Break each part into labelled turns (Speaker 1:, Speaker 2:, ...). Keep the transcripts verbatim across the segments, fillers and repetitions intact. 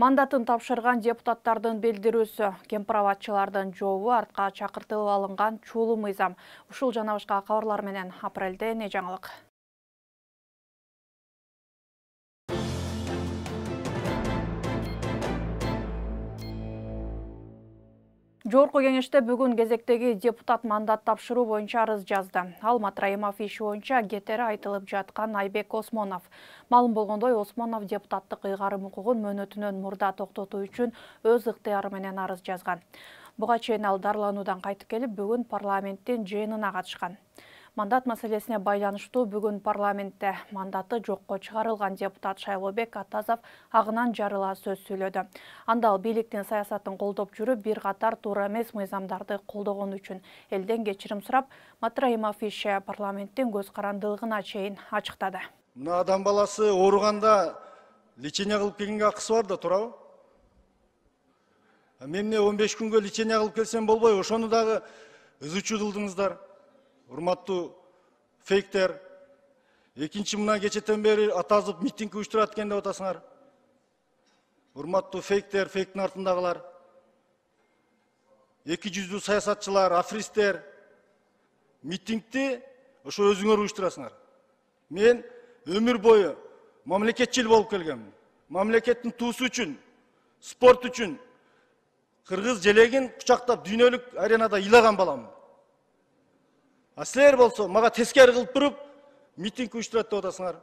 Speaker 1: Мандатын тапшырган депутаттардын билдирүүсү, кемпир-абадчылардын жообу артка чакыртылып алынган чуулуу мыйзам. Ушул жана башка кабарлар менен апрелде не жаңылык. Жогорку кеңеште бүгүн кезектеги депутат мандат тапшыруу боюнча арыз жазды. Ал Матраимов иши боюнча кетери айтылып жаткан Айбек Осмонов. Маалым болгондой, Осмонов депутаттык ыйгарым укугун мөөнөтүнөн мурда токтотуу үчүн өз ыктыяры менен арыз жазган. Буга чейин ал дарылануудан кайтып келип, бүгүн парламенттин жыйынына катышкан. Мандат маселесине байланыштуу бүгүн парламентте мандаты жокко чыгарылган депутат Шайлообек Атазов агынан жарыла сөз сүйлөдү. Анда ал бийликтин саясатын колдоп жүрүп, бир катар туура эмес мыйзамдарды колдогон үчүн элден кечирим сурап, Матраимов иши парламенттин көз карандылыгына чейин ачыктады.
Speaker 2: Мына адам баласы ооруганда лечение кылып келгенге акысы бар да, туурабы? Мен эмне он беш күнгө лечение кылып келсем болбойбу? Ошону дагы ызычуу кылдыңыздар. Урматтуу фейктер. Экинчи, мына кечетен бери Атазов митинг уюштурат экен деп атасыңар. Урматтуу фейктер, фейктин артындагылар. Эки жүздүү саясатчылар, афристер. Митингди ошо өзүңөр уюштурасыңар. Мен өмүр бою мамлекетчил болуп келгенмин. Мамлекеттин туусу үчүн, спорт үчүн кыргыз желегин кучактап дүйнөлүк аренада ыйлаган баламын. А силер болсо мага тескери кылып туруп митинг уюштурат деп атасыңар.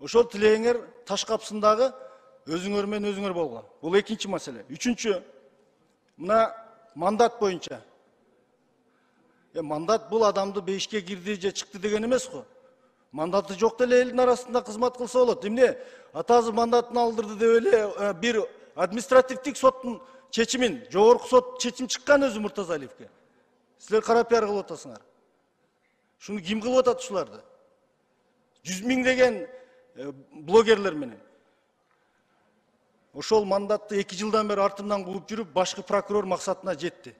Speaker 2: Ошол тилегиңер таш капсындагы өзүңөр менен өзүңөр болгула. Бул экинчи маселе. Үчүнчү, мына мандат боюнча. Э мандат бул адамды бейишке кирди же чыкты деген эмес го. Мандаты жок деле элдин арасында кызмат кылса болот. Эмне Атазов мандатын алдырды деп эле бир административдик соттун чечимин, жогорку сот чечим чыккан өзү Муртазалиевке. Силер кара пиар кылып атасыңар. Шуну ким кылып атат ушуларды? Жүз миңдеген блогерлер менен. Ошол мандатты эки жылдан бери артымдан кууп жүрүп, башкы прокурор максатына жетти.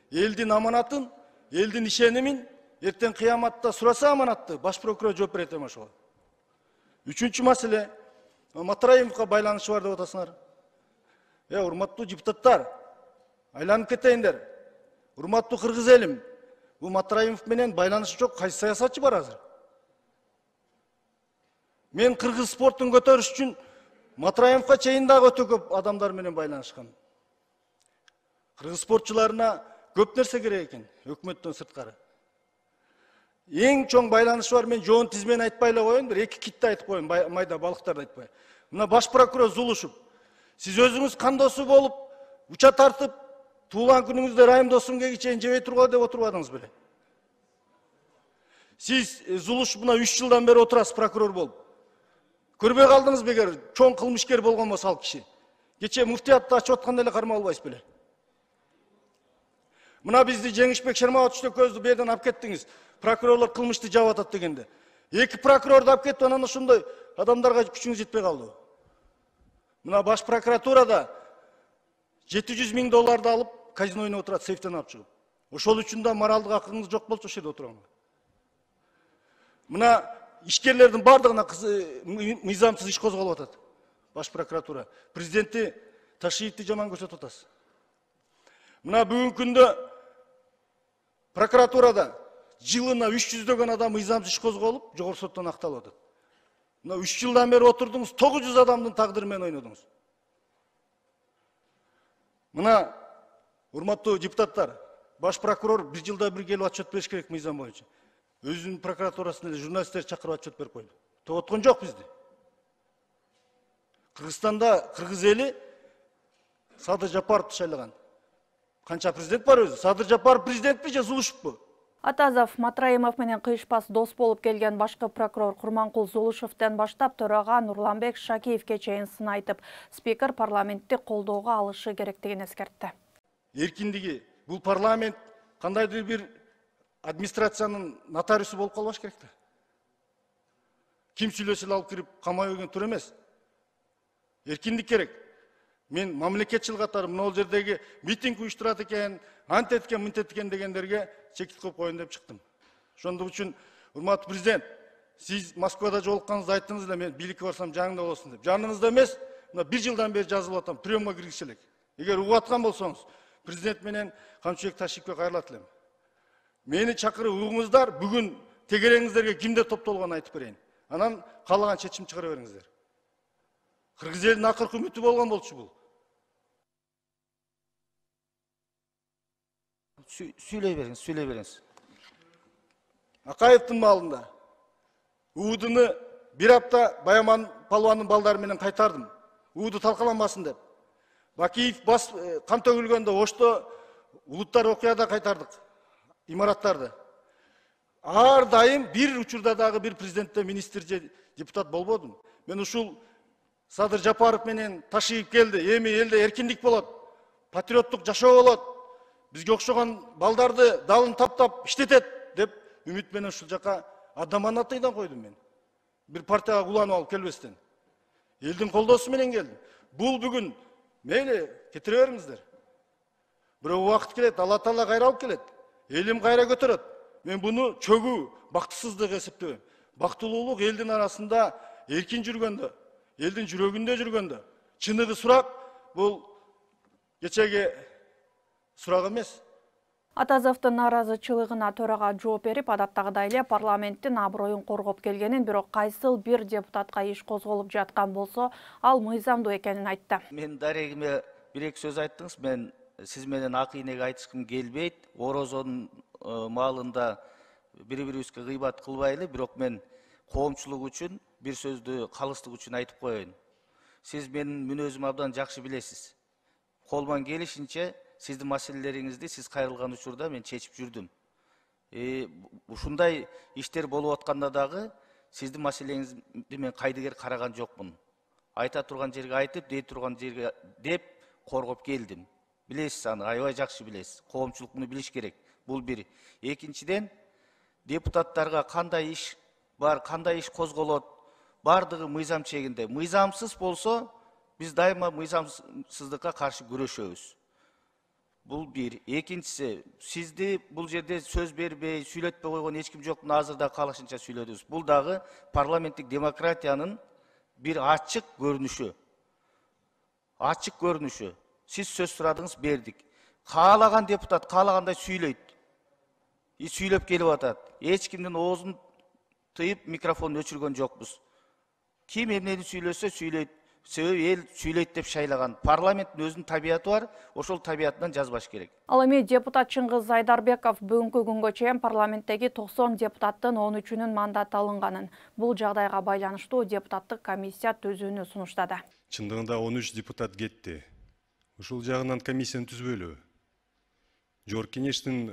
Speaker 2: Элдин аманатын, элдин ишенимин эртең кыяматта сураса аманатты, баш прокурор жооп берет эми ошого. Үчүнчү маселе, Матраимовго байланышы бар деп атасыңар. Э, урматтуу депутаттар, айланып кетейиндер. Урматтуу кыргыз элим, бул Матраимов менен байланышы жок кайсы саясатчы бар азыр? Мен кыргыз спортун көтөрүш үчүн Матраимовго чейин дагы өтө көп адамдар менен байланышкан. Кыргыз спортчуларына көп нерсе керек экен, өкмөттөн сырткары. Эң чоң байланышы бар, мен жоон тизмени айтпай эле коеюн, бир эки китти айтып коеюн, майда балыктарды айтпай. Мына баш прокурор Зулушев, сиз өзүңүз кандосу болуп, уча тартып, туулган күнүңүздө Райым досумге чейин жебей тургула деп отурбадыңыз беле? Сиз Зулушев мына үч жылдан бери отурасыз прокурор болуп. Көрбөй калдыңыз бегер, чоң кылмышкер болгон болсо ал киши. Кече муфтиятты ачып атканда эле кармап албайсыз беле? Мына бизди Жеңишбек Шермабат Үчтөкөздү берден алып кеттиңиз. Прокурорлор кылмышты жаап атат дегенде. Эки прокурорду алып кетип, анан ошондой адамдарга күчүңүз жетпей калды. Мына баш прокуратурада жети жүз миң долларды алып, казино ойноп отурат, сейфтен алып чыгып. Ошол үчүн да моралдык акыңыз жок болчу ошол жерде отурганга. Мына ишкерлердин бардыгына мыйзамсыз иш козголуп атат. Баш прокуратура. Президенти Ташиевди жаман көрсөтүп атасыз. Мына бүгүнкү күндө прокуратурада жылына үч жүздөгөн адам мыйзамсыз иш козголуп, жогорку соттон акталып атат. Мына үч жылдан бери отурдуңуз, тогуз жүз адамдын тагдыры менен ойнодуңуз. Мына урматтуу депутаттар, баш прокурор бир жылда бир келип отчет бериш керек мыйзам боюнча. Өзүнүн прокуратурасында эле журналисттер чакырып отчет берип койду. Токтоткон жок бизди. Кыргызстанда кыргыз эли Садыр Жапаровду шайлаган. Канча президент бар өзү? Садыр Жапаров президентпи же Зулушевпи?
Speaker 1: Атазов Матраимов менен кыйышпас дос болуп келген башкы прокурор Курманкул Зулушевден баштап төрага Нурланбек Шакиевке чейин сын айтып, спикер парламентти колдоого алышы керектигин эскертти.
Speaker 2: Эркиндиги, бул парламент кандайдыр бир администрациянын нотариусу болуп калбаш керек да. Ким сүйлөсө эле алып кирип камай койгон туура эмес. Эркиндик керек. Мен мамлекетчил катары мына жердеги митинг уюштурат экен, антет экен, мынтет экен дегендерге чекит коюп коеюн деп чыктым. Ошондук үчүн, урматтуу президент, сиз Москвада жолукканыңызда айттыңыз эле, мен бийликке барсам жаныңда болосун деп. Жаныңызда эмес, мына бир жылдан бери жазылып атам, приемга киргизе элек. Эгер угуп аткан болсоңуз, президент менен Камчыбек Ташиповке кайрылат элем. Мени чакырып угуңуздар, бүгүн тегереңиздерге кимдер топтолгонун айтып берейин. Анан каалаган чечим чыгара бериңиздер. Кыргыз элинин акыркы үмүтү болгон болчу бул.
Speaker 3: Сүйлөй бериңиз, сүйлөй бериңиз.
Speaker 2: Акаевдин маалында уудуну бир апта Баяман палуандын балдары менен кайтардым. Ууду талкаланбасын деп. Бакиев бас кан төгүлгөндө Ошто улуттар окуяда кайтардык имараттарды. Ар дайым бир учурда дагы бир президентте министр же депутат болбодум. Мен ушул Садыр Жапаров менен Ташиев келди. Эми элде эркиндик болот, патриоттук жашоо болот. Бизге окшогон балдарды далын таптап иштетет деп үмүт менен ушул жака адаманатыйдан койдум мен. Бир партияга куланып алып келбестен. Элдин колдоосу менен келдим. Бул бүгүн мейли кетире бериңиздер. Бирок убакыт келет, Алла Таала кайра алып келет. Элим кайра көтөрөт. Мен буну чөгүү, бактысыздык эсептебейм. Бактылуулук элдин арасында эркин жүргөндө, элдин жүрөгүндө жүргөндө. Чыныгы сурак бул кечеги сурак эмес.
Speaker 1: Атазовдун нааразычылыгына төрага жооп берип, адаттагыдай эле парламенттин аброюн коргоп келгенин, бирок кайсыл бир депутатка иш козголуп жаткан болсо, ал мыйзамдуу экенин айтты.
Speaker 3: Мен дарегиме бир-эки сөз айттыңыз. Мен сиз менен ак ийнеге айтышкым келбейт. Орозонун маалында бири-бирибизге гыйбат кылбайлы, бирок мен коомчулук үчүн бир сөздү калыстык үчүн айтып коеюн. Сиз менин мүнөзүмү абдан жакшы билесиз. Колуман келишинче сиздин маселелериңизди сиз кайрылган учурда мен чечип жүрдүм. Ушундай иштер болуп атканда дагы сиздин маселеңизди мен кайдыгер караган жокмун. Айта турган жерге айтып, дей турган жерге деп коргоп келдим. Билесиз аны, аябай жакшы билесиз. Коомчулук муну билиш керек. Бул бир. Экинчиден, депутаттарга кандай иш бар, кандай иш козголот, бардыгы мыйзам чегинде. Мыйзамсыз болсо, биз дайыма мыйзамсыздыкка каршы күрөшөбүз. Бул бир. Экинчиси, сизди бул жерде сөз бербей, сүйлөтпөй койгон эч ким жок. Азырда каалашынча сүйлөдүбүз. Бул дагы парламенттик демократиянын бир ачык көрүнүшү. Ачык көрүнүшү. Сиз сөз сурадыңыз, бердик. Каалаган депутат каалагандай сүйлөйт. И сүйлөп келип атат. Эч кимдин оозун тыйып, микрофонун өчүргөн жокпуз. Ким эмнени сүйлөсө сүйлөйт. Себеби эл сүйлөйт деп шайлаган. Парламенттин өзүнүн табияты бар, ошол табиятынан жазбаш керек.
Speaker 1: Ал эми депутат Чыңгыз Айдарбеков бүгүнкү күнгө чейин парламенттеги токсон депутаттын он үчүнүн мандаты алынганын, бул жагдайга байланыштуу депутаттык комиссия түзүүнү сунуштады.
Speaker 4: Чындыгында он үч депутат кетти. Ушул жагынан комиссияны түзбөйлү. Жогорку кеңештин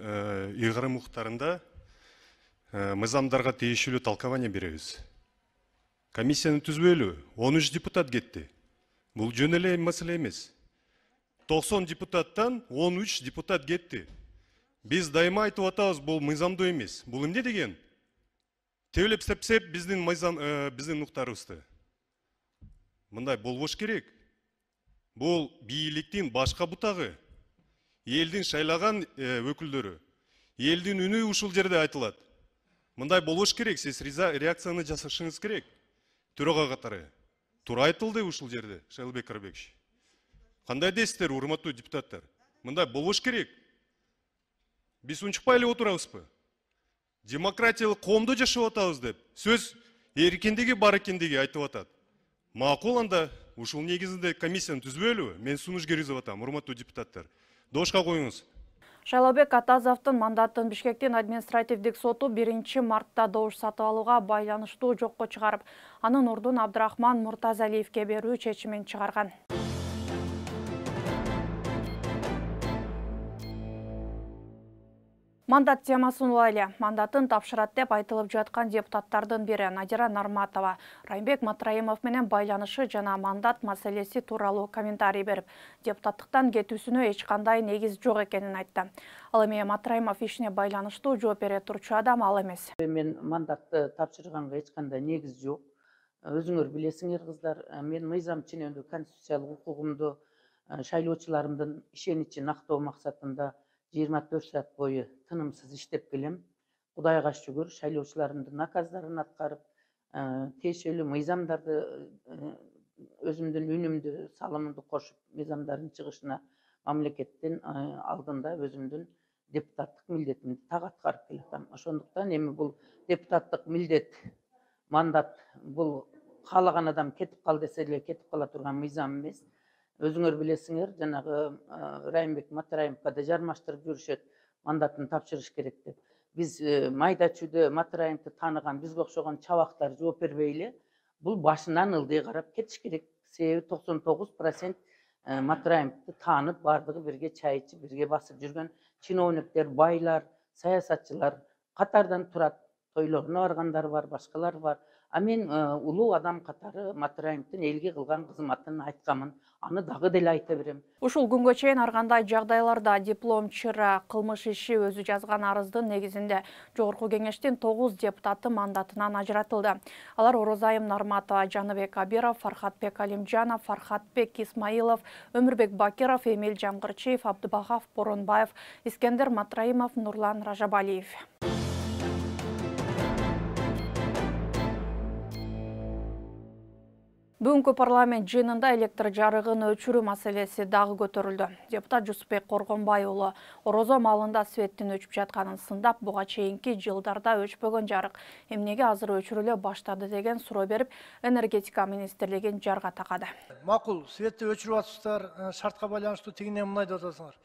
Speaker 4: ыйгарым укуктарында мыйзамдарга тийиштүү талкабания беребиз. Комиссияны түзбөйлү. он үч депутат кетти. Бул жөн эле маселе эмес. токсон депутаттан он үч депутат кетти. Биз дайыма айтып атабыз, бул мыйзамдуу эмес. Бул эмне деген? Теулеп сепсеп биздин мыйзам биздин укуктарыбызды. Мындай болбош керек. Бул бийликтин башка бутагы. Элдин шайлаган өкүлдөрү. Элдин үнү ушул жерде айтылат. Мындай болбош керек. Сиз реакцияны жасашыңыз керек. Төрага катары. Туура айтылды ушул жерде, Шайлбек Карабекович. Кандай дейсиздер, урматтуу депутаттар? Мындай болбош керек. Биз унчукпай эле отурабызбы? Демократиялык коомдо жашап атабыз деп, сөз эркиндиги бар экендиги айтып атат. Макул, анда ушул негизинде комиссияны түзбөйлүбү? Мен сунуш киргизип атам, урматтуу депутаттар. Дошка коюңуз.
Speaker 1: Шайлообек Атазовдун мандатын Бишкектин административдик соту биринчи мартта добуш сатып алууга байланыштуу жокко чыгарып, анын ордун Абдрахман Муртазалиевке берүү чечимин чыгарган. Мандат темасын улайлы. Мандатын тапшырат деп айтылып жаткан депутаттардын бири Надира Нарматова Райымбек Матраимов менен байланышы жана мандат маселеси тууралуу комментарий берип, депутаттыктан кетүүсүнө эч кандай негиз жок экенин айтты. Ал эми Матраимов ишине байланыштуу жооп бере турчу адам ал эмес.
Speaker 5: Мен мандатты тапшырганга эч кандай негиз жок. Өзүңөр билесиңер кыздар, мен мыйзам ченемдүү конституциялык укугумду шайлоочуларымдын ишеничин актоо максатында жыйырма төрт саат бою тынымсыз иштеп келем. Кудайга шүгүр, шайлоочуларымдын наказдарын аткарып, тиешелүү мыйзамдарды өзүмдүн үнүмдү, салымымды кошуп, мыйзамдардын чыгышына мамлекеттин алдында өзүмдүн депутаттык милдетимди так аткарып келатам. Ошондуктан эми бул депутаттык милдет, мандат бул каалаган адам кетип кал десе эле кетип кала турган мыйзам эмес. Өзүңөр билесиңер, жанагы Райымбек Матраимовго да жармаштырып жүрүшөт, мандатын тапшырыш керек деп. Биз майда чүйдө Матраимовду тааныган бизге окшогон чабактар жооп бербей эле бул башынан ылдый карап кетиш керек. Себеби токсон тогуз процент Матраимовду таанып, бардыгы бирге чай ичип, бирге басып жүргөн чиновниктер, байлар, саясатчылар катардан турат. Тойлоруна баргандар бар, башкалар бар. А мен улуу адам катары Матраимовдун элге кылган кызматын айткамын. Аны дагы деле айта берем.
Speaker 1: Ушул күнгө чейин ар кандай жагдайларда диплом чыра кылмыш иши өзү жазган арыздын негизинде Жогорку Кеңештин тогуз депутаты мандатынан ажыратылды. Алар Орозайым Нарматова, Жаныбек Абиров, Фархатбек Алимжанов, Фархатбек Исмаилов, Өмүрбек Бакиров, Эмил Жамгырчиев, Абдыбахав Боронбаев, Искендер Матраимов, Нурлан Ражабалиев. Бүгүнкү парламент жыйынында электр жарыгын өчүрүү маселеси дагы көтөрүлдү. Депутат Жусупбек Коргонбай уулу Орозо малында светтин өчүп жатканын сындап, буга чейинки жылдарда өчпөгөн жарык эмнеге азыр өчүрүлө баштады деген суроо берип, энергетика министрлигин жарга такады.
Speaker 6: Макул, светти өчүрүп атышсыздар, шартка байланыштуу тигине мындай деп атасыңар.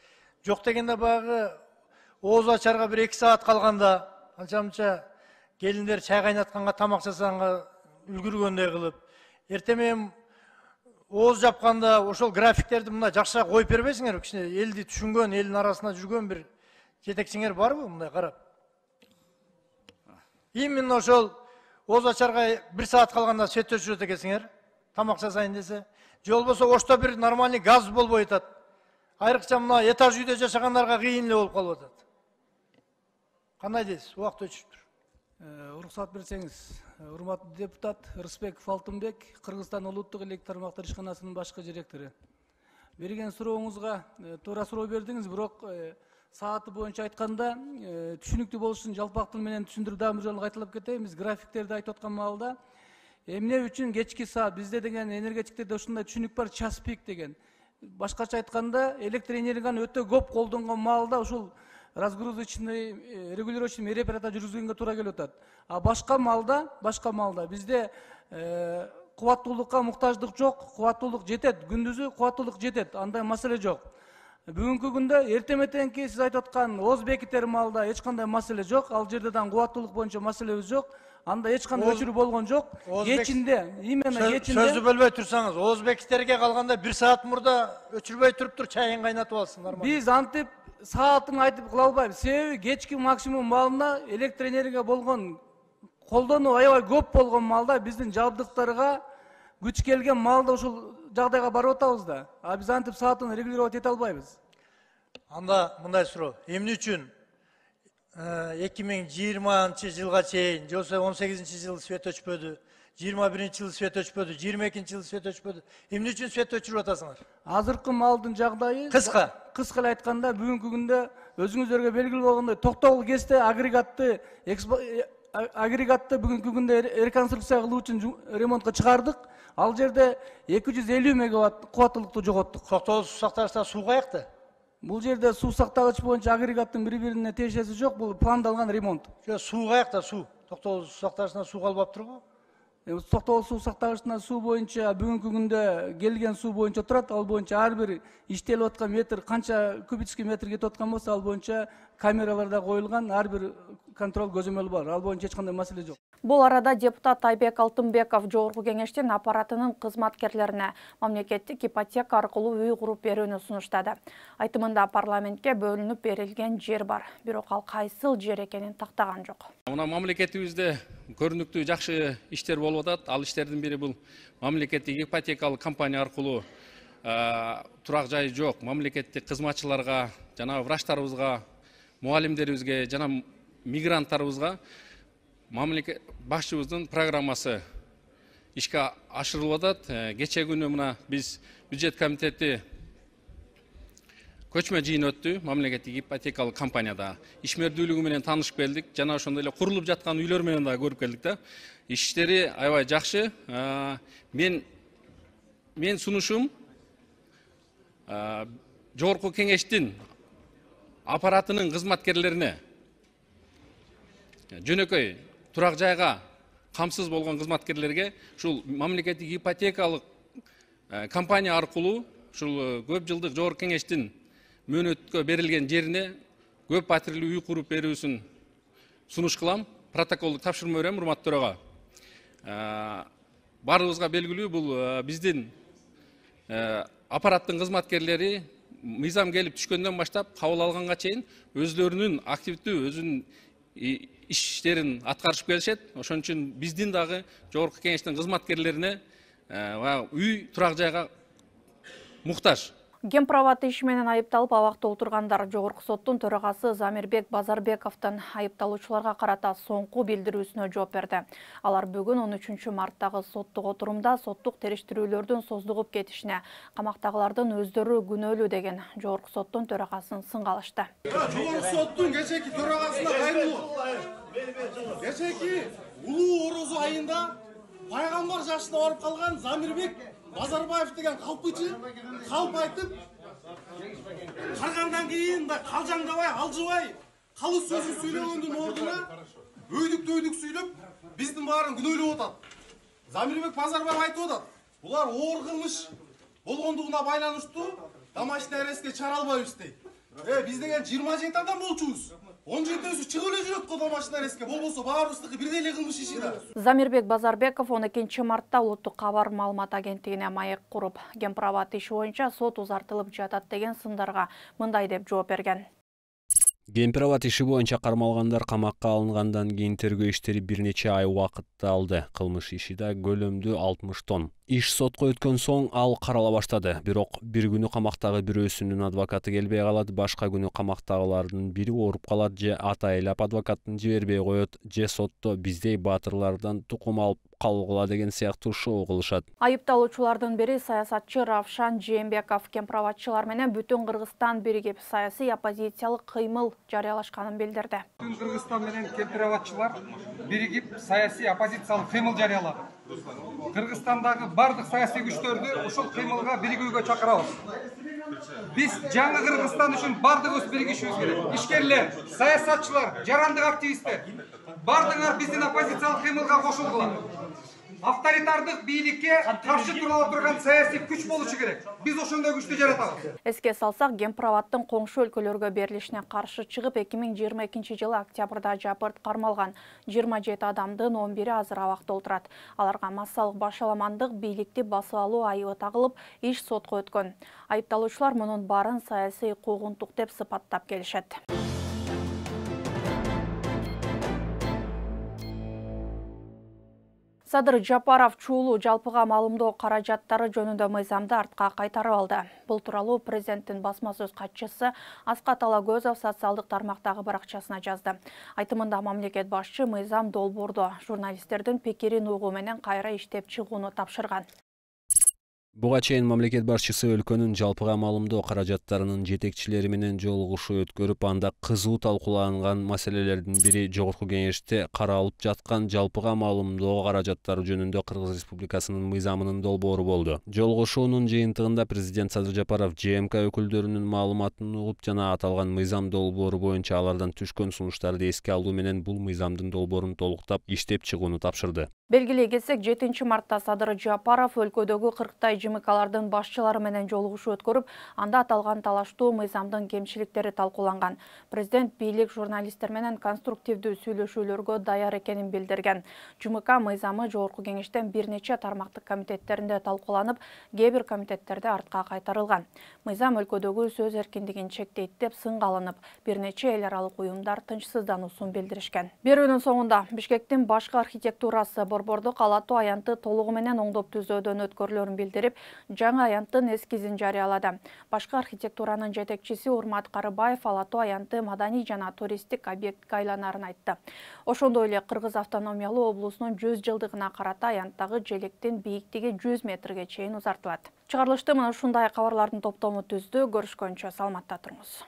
Speaker 6: Жок дегенде багы ооз ачарга бир эки саат калганда, анча-мынча келиндер чай кайнатканга, тамак жасаганга үлгүргөндөй кылып, эртең ооз жапканда ошол графиктерди мындай жакшыраак коюп бербейсиңерби? Кичине элди түшүнгөн, элдин арасында жүргөн бир жетекчиңер барбы мындай карап? Именно ошол ооз ачарга бир саат калганда свет өчүрөт экенсиңер, тамак жасайын десе. Же болбосо ошто бир нормальный газ болбой атат. Айрыкча мына этаж үйдө жашагандарга кыйын эле болуп калып атат. Кандай дейсиз? Убакыт өчүп тур.
Speaker 7: Уруксат берсеңиз, урматтуу депутат Рысбеков Алтынбек, Кыргызстан улуттук электр тармактар ишканасынын башкы директору. Берген сурооңузга туура суроо бердиңиз, бирок сааты боюнча айтканда түшүнүктүү болуш үчүн жалпак тил менен түшүндүрүп дагы бир жолу кайталап кетейин. Биз графиктерди айтып аткан маалда эмне үчүн кечки саат, бизде деген энергетиктерде ушундай түшүнүк бар, час пик деген. Башкача айтканда, электр энергияны өтө көп колдонгон маалда ушул разгрузочный регулирующий мероприятия жүргүзгөнгө туура келип атат. А башка маалда, башка маалда бизде кубаттуулукка муктаждык жок, кубаттуулук жетет, күндүзү кубаттуулук жетет, андай маселе жок. Бүгүнкү күндө эртең мененки сиз айтып аткан ооз бекиттер маалда эч кандай маселе жок, ал жерде да кубаттуулук боюнча маселебиз жок. Анда эч кандай өчүрүү болгон жок. Кечинде, именно кечинде.
Speaker 6: Сөздү бөлбөй турсаңыз, ооз бекиттерге калганда бир саат мурда өчүрбөй туруп тур чайын кайнатып алсын, нормально.
Speaker 7: Биз антип саатын айтып кыла албайбыз. Себеби кечки максимум маалында электр энергия болгон колдонуу аябай көп болгон маалда биздин жабдыктарга күч келген маалда ушул жагдайга барып атабыз да. А биз антип саатын регулировать эте албайбыз.
Speaker 6: Анда мындай суроо. Эмне үчүн эки миң жыйырманчы жылга чейин, же болбосо он сегизинчи жылы свет өчпөдү, жыйырма биринчи жылы свет өчпөдү, жыйырма экинчи жылы свет өчпөдү. Эмне үчүн свет өчүрүп атасыңар?
Speaker 7: Азыркы маалдын жагдайы
Speaker 6: кыска.
Speaker 7: Кыска эле айтканда, бүгүнкү күндө өзүңүздөргө белгилүү болгондой токтогул кезде агрегатты агрегатты бүгүнкү күндө реконструкция кылуу үчүн ремонтко чыгардык. Ал жерде эки жүз элүү мегаватт кубаттуулукту жоготтук.
Speaker 6: Токтогул суу сактагычта суу каякта?
Speaker 7: Бул жерде суу сактагыч боюнча агрегаттын бири-бирине тиешеси жок, бул пландалган ремонт.
Speaker 6: Суу каякта суу? Токтогул суу сактагычтан суу калбап турбу?
Speaker 7: Токтогул суу сактагычтан суу боюнча бүгүнкү күндө келген суу боюнча турат. Ал боюнча ар бир иштелип аткан метр канча кубический метр кетип аткан болсо, ал боюнча камераларда коюлган, ар бир контроль көзөмөлү бар. Ал боюнча эч кандай маселе жок.
Speaker 1: Бул арада депутат Айбек Алтынбеков Жогорку Кеңештин аппаратынын кызматкерлерине мамлекеттик ипотека аркылуу үй куруп берүүнү сунуштады. Айтымында парламентке бөлүнүп берилген жер бар, бирок ал кайсыл жер экенин тактаган жок.
Speaker 8: Мына мамлекетибизде көрүнүктүү жакшы иштер болуп атат. Ал иштердин бири бул мамлекеттик ипотекалык компания аркылуу турак жай жок мамлекеттик кызматчыларга, жана врачтарыбызга, мугалимдерибизге жана мигранттарыбызга мамлекет башчыбыздын программасы ишке ашырылып атат. Кече күнү мына биз бюджет комитети көчмө жыйын өттү мамлекеттик ипотекалык компанияда. Ишмердүүлүгү менен таанышып келдик, жана ошондой эле курулуп жаткан үйлөр менен да көрүп келдик да. Иштери аябай жакшы. Мен мен сунушум жогорку кеңештин аппаратынын кызматкерлерине жөнөкөй турак жайга камсыз болгон кызматкерлерге ушул мамлекеттик ипотекалык компания аркылуу ушул көп жылдык жогорку кеңештин мөөнөткө берилген жерине көп патрилүү үй куруп берүүсүн сунуш кылам. Протоколдук тапшырма берем, урматтуу төрага. Баарыбызга белгилүү, бул биздин аппараттын кызматкерлери мыйзам келип түшкөндөн баштап кабыл алганга чейин өзлөрүнүн активдүү өзүнүн иштерин аткарышып келишет. Ошон үчүн биздин дагы жогорку кеңештин кызматкерлерине үй, турак жайга муктаж.
Speaker 1: Гемправат иши менен айыпталып абакта отургандар жогорку соттун төрагасы Замирбек Базарбековдун айыпталуучуларга карата соңку билдирүүсүнө жооп берди. Алар бүгүн он үчүнчү марттагы соттук отурумда соттук териштирүүлөрдүн создугуп кетишине, камактагылардын өздөрү күнөөлүү деген жогорку соттун төрагасын сынга алышты.
Speaker 9: Жогорку соттун кечеки төрагасына кайрылуу. Кечеки улуу орозу айында пайгамбар жашына барып калган Замирбек Базарбаев деген калпычы калп айтып, каргандан кийин да калжаңдабай, алжыбай, калыс сөзүн сүйлөгөндүн ордуна өйдүк-дөйдүк сүйлөп, биздин баарын күнөөлөп атат. Замирбек Базарбаев айтып атат, булар оор кылмыш болгондугуна байланыштуу домашний арестке чыгара албайбыз дейт. Э, биз деген жыйырма жети адам болчубуз. он жетөөсү чыгып эле жүрөт го домашний арестке, болбосо баарыбыздыкы бирдей эле кылмыш иши да.
Speaker 1: Замирбек Базарбеков он экинчи мартта улуттук кабар маалымат агенттигине маек куруп, Гемправат иши боюнча сот узартылып жатат деген сындарга мындай деп жооп берген.
Speaker 10: Гемправат иши боюнча кармалгандар камакка алынгандан кийин тергөө иштери бир нече ай убакытты алды. Кылмыш иши да көлөмдүү алтымыш тонн. Иш сотко өткөн соң ал карала баштады. Бирок бир күнү камактагы бирөөсүнүн адвокаты келбей калат, башка күнү камактагылардын бири ооруп калат же ата айлап адвокатын жибербей коет, же сотто биздей баатырлардан тукум алып калгыла деген сыяктуу шоу кылышат.
Speaker 1: Айыпталуучулардын бири саясатчы Равшан Жээнбеков гемправатчылар менен бүтүн Кыргызстан биригип саясий оппозициялык кыймыл жарыялашканын билдирди.
Speaker 11: Бүтүн Кыргызстан менен гемправатчылар биригип саясий оппозициялык кыймыл жарыялады. Кыргызстандагы бардык саясий күчтөрдү ушул кыймылга биригүүгө чакырабыз. Биз жаңы Кыргызстан үчүн бардыгыбыз биригишибиз керек. Ишкерлер, саясатчылар, жарандык активисттер бардыгыңар биздин оппозициялык кыймылга кошулгула. Авторитардык бийликке каршы тура отурган саясий күч болушу керек. Биз ошондой күчтү жаратабыз.
Speaker 1: Эске салсак, Гемправаттын коңшу өлкөлөргө берилишине каршы чыгып эки миң жыйырма экинчи жылы октябрда жабырт кармалган жыйырма жети адамдын он бири азыр абакта отурат. Аларга массалык башаламандык, бийликти басып алуу айыбы тагылып, иш сотко өткөн. Айыпталуучулар мунун баарын саясий куугунтук деп сыпаттап келишет. Садыр Жапаров чуулуу жалпыга маалымдоо каражаттары жөнүндө мыйзамды артка кайтарып алды. Бул тууралуу президенттин басма сөз катчысы Аскат Алагөзов социалдык тармактагы баракчасына жазды. Айтымында мамлекет башчы мыйзам долбоордо журналисттердин пикирин угуу менен кайра иштеп чыгууну тапшырган.
Speaker 10: Буга чейин мамлекет башчысы өлкөнүн жалпыга маалымдоо каражаттарынын жетекчилери менен жолугушуу өткөрүп, анда кызуу талкууланган маселелердин бири жогорку кеңеште каралып жаткан жалпыга маалымдоо каражаттары жөнүндө Кыргыз Республикасынын мыйзамынын долбоору болду. Жолугушуунун жыйынтыгында президент Садыр Жапаров ЖМК өкүлдөрүнүн маалыматын угуп жана аталган мыйзам долбоору боюнча алардан түшкөн сунуштарды эске алуу менен бул мыйзамдын долбоорун толуктап иштеп чыгууну тапшырды.
Speaker 1: Белгилей кетсек, жетинчи мартта Садыр Жапаров өлкөдөгү кырктай ЖМКлардын башчылары менен жолугушуу өткөрүп, анда аталган талаштуу мыйзамдын кемчиликтери талкууланган. Президент бийлик журналисттер менен конструктивдүү сүйлөшүүлөргө даяр экенин билдирген. ЖМК мыйзамы жогорку кеңештен бир нече тармактык комитеттеринде талкууланып, кээ бир комитеттерде артка кайтарылган. Мыйзам өлкөдөгү сөз эркиндигин чектейт деп сынга алынып, бир нече эл аралык уюмдар тынчсыздануусун билдиришкен. Берүүнүн соңунда Бишкектин башкы архитектурасы Борбордук Ала Тоо аянты толугу менен оңдоп түзөөдөн өткөрүлөрүн билдирип, жаңы аянттын эскизин жарыялады. Башкы архитектуранын жетекчиси Урмат Карыбаев Ала Тоо аянты маданий жана туристтик объектке айланарын айтты. Ошондой эле Кыргыз автономиялуу облусунун жүз жылдыгына карата аянттагы желектин бийиктиги жүз метрге чейин узартылат. Чыгарылышты мына ушундай кабарлардын топтому түздү. Көрүшкөнчө саламатта туруңуз.